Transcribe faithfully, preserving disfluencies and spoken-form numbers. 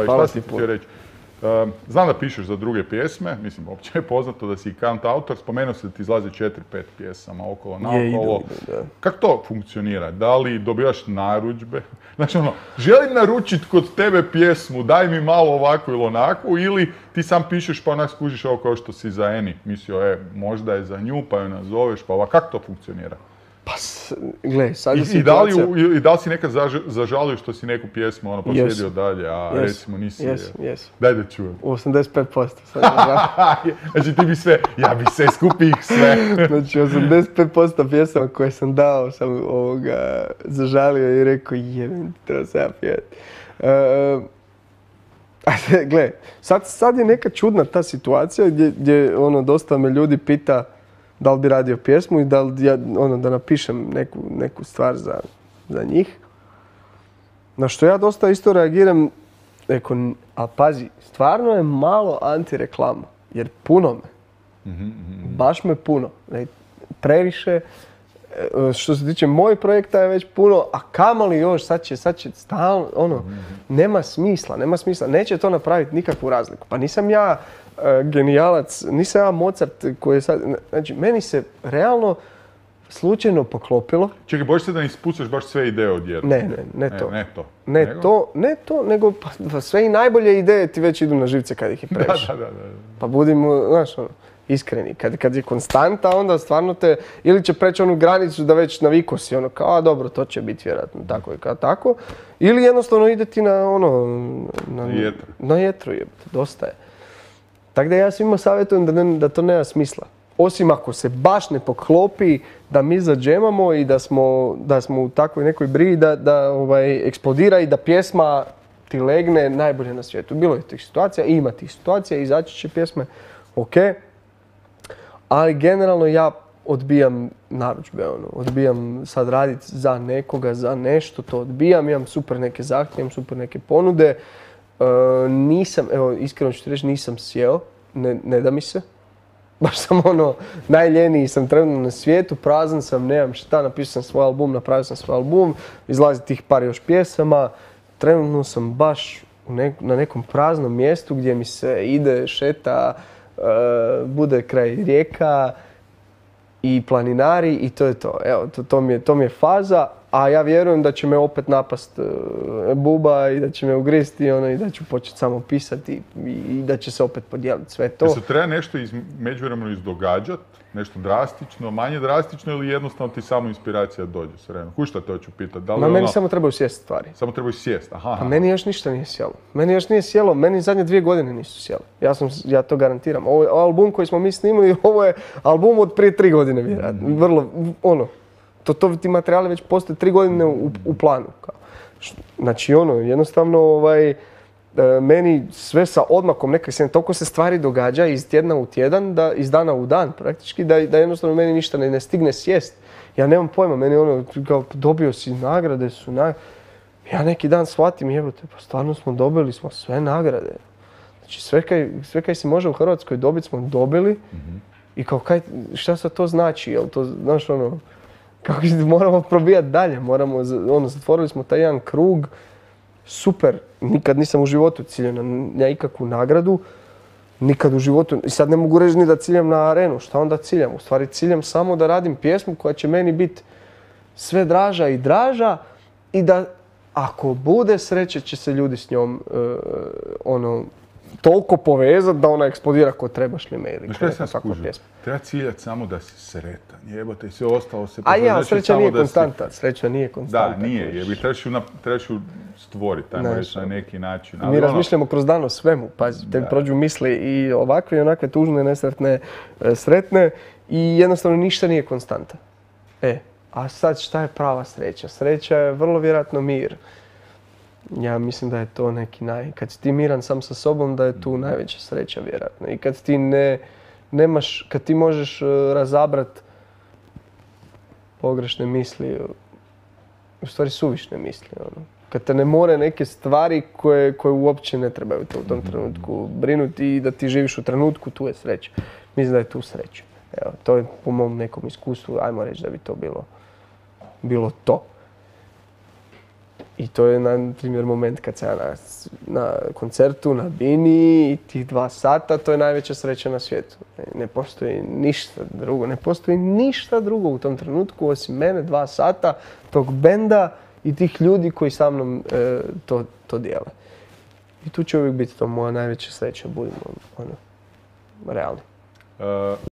Hvala ti puno. Znam da pišeš za druge pjesme, mislim, opće je poznato da si i kant autor, spomenuo si da ti izlazi četiri, pet pjesama okolo, naokolo. Kako to funkcionira? Da li dobivaš narudžbe? Znači ono, želim naručiti kod tebe pjesmu, daj mi malo ovako ili onako, ili ti sam pišeš pa onak skužiš ovo kao što si za Eni mislio, e, možda je za nju, pa ju nazoveš, pa ovako, kako to funkcionira? Pa, gle, sad je I, situacija... I da li, i da li si nekad zaž, zažalio što si neku pjesmu ono poslijedio yes. dalje, a yes. recimo nisi... Yes. Yes. Daj da čujem. osamdeset pet posto. Znači ti bi sve, ja bi sve skupio ih sve. Znači osamdeset pet posto pjesama koje sam dao sam ovoga zažalio i rekao jebim, treba se ja pjevati. Uh, gle, sad, sad je neka čudna ta situacija gdje, gdje ono, dosta me ljudi pita da li bi radio pjesmu i da li ja, ono, da napišem neku, neku stvar za, za njih. Na što ja dosta isto reagiram, reko, a pazi, stvarno je malo antireklama, jer puno me. Mm-hmm, mm-hmm. Baš me puno. Previše, što se tiče mojih projekta je već puno, a kamoli još, sad će, sad će stalno, ono, mm-hmm. nema smisla, nema smisla. Neće to napraviti nikakvu razliku. Pa nisam ja Uh, genijalac, nisam ja Mozart koji je sad, znači meni se realno slučajno poklopilo. Čekaj, bojiš se da ne ispucaš baš sve ideje odjednom? Ne, ne, ne to. Ne, ne to. Ne nego? to, ne to, nego pa, sve i najbolje ideje ti već idu na živce kad ih je previše. Da, da, da, da. Pa budimo, znaš, ono, iskreni. Kad, kad je konstanta, onda stvarno te, ili će preći onu granicu da već navikao si, ono, kao, a dobro, to će biti vjerojatno tako i kao tako. Ili jednostavno ide ti na, ono, na, na jetru. Na jetru, jebate, dosta je. Tako da ja svima savjetujem da, ne, da to nema smisla. Osim ako se baš ne poklopi da mi zadžemamo i da smo, da smo u takvoj nekoj briji da, da ovaj, eksplodira i da pjesma ti legne najbolje na svijetu. Bilo je tih situacija, ima tih situacija, izaći će pjesme, ok. Ali generalno ja odbijam narudžbe, ono, odbijam sad raditi za nekoga, za nešto, to odbijam, imam super neke zahtjeve, imam super neke ponude. Uh, nisam, evo iskreno ću ti reći, nisam sjeo, ne, ne da mi se. Baš sam ono, najljeniji sam trenutno na svijetu, prazan sam, nemam šta, napisao sam svoj album, napravio sam svoj album, izlazi tih par još pjesama. Trenutno sam baš u nek, na nekom praznom mjestu gdje mi se ide, šeta, uh, bude kraj rijeka i planinari i to je to. Evo, to, to, mi je, to mi je faza. A ja vjerujem da će me opet napast uh, buba i da će me ugristi ono, i da ću početi samo pisati i, i da će se opet podijeliti sve to. Da se treba nešto iz, međuvremeno izdogađati, nešto drastično, manje drastično ili jednostavno ti samo inspiracija dođe s vremenom? Kušta te hoću pitati? Da li Ma ono... meni samo trebaju sjesti stvari. Samo trebaju sjesti, aha. aha. A meni još ništa nije sjelo. Meni još nije sjelo, meni zadnje dvije godine nisu sjele. Ja, sam, ja to garantiram. Ovo je album koji smo mi snimali, ovo je album od prije tri godine vjerojatno. Mm. Vrlo, ono. To, to ti materijali već postoje tri godine u, u planu. Kao. Znači ono, jednostavno ovaj, meni sve sa odmakom nekak se, toliko se stvari događa iz tjedna u tjedan, da, iz dana u dan praktički, da, da jednostavno meni ništa ne, ne stigne sjest. Ja nemam pojma, meni ono, kao, dobio si nagrade, su nagrade. Ja neki dan shvatim, jebote, pa stvarno smo dobili smo sve nagrade. Znači sve kaj, sve kaj se može u Hrvatskoj dobiti smo dobili. Mm-hmm. I kao kaj, šta sad to znači, jel to, znaš ono, kako moramo probijati dalje, moramo, ono, zatvorili smo taj jedan krug, super, nikad nisam u životu ciljao na ikakvu nagradu, nikad u životu, i sad ne mogu reći ni da ciljam na arenu, šta onda ciljam? U stvari ciljam samo da radim pjesmu koja će meni biti sve draža i draža i da ako bude sreće će se ljudi s njom uh, ono, toliko povezati da ona eksplodira ko trebaš li me ili neka takva pjesma. Treba ciljati samo da si sretan, jebote i sve ostalo se... A ja, sreća nije konstanta, si... sreća nije konstanta. Da, nije, jer bi trebaš ju, trebaš ju stvoriti, tajmo reći na neki način. Ali mi ono... razmišljamo kroz dan o svemu, pazi, te prođu misli i ovakve i onakve tužne, nesretne, sretne i jednostavno ništa nije konstanta. E, a sad šta je prava sreća? Sreća je vrlo vjerojatno mir. Ja mislim da je to neki naj... Kad si ti miran sam sa sobom, da je tu najveća sreća vjerojatno. I kad ti ne, nemaš, kad ti možeš razabrat pogrešne misli, u stvari suvišne misli, ono. Kad te ne more neke stvari koje, koje uopće ne trebaju te u tom trenutku brinuti i da ti živiš u trenutku, tu je sreća. Mislim da je tu sreća. Evo, to je po mom nekom iskustvu, ajmo reći da bi to bilo, bilo to. I to je, na primjer, moment kad sam ja na, na koncertu, na bini i tih dva sata, to je najveća sreća na svijetu. Ne, ne postoji ništa drugo, ne postoji ništa drugo u tom trenutku osim mene, dva sata, tog benda i tih ljudi koji sa mnom e, to, to dijele. I tu će uvijek biti to moja najveća sreća, budimo ono, realni. Uh...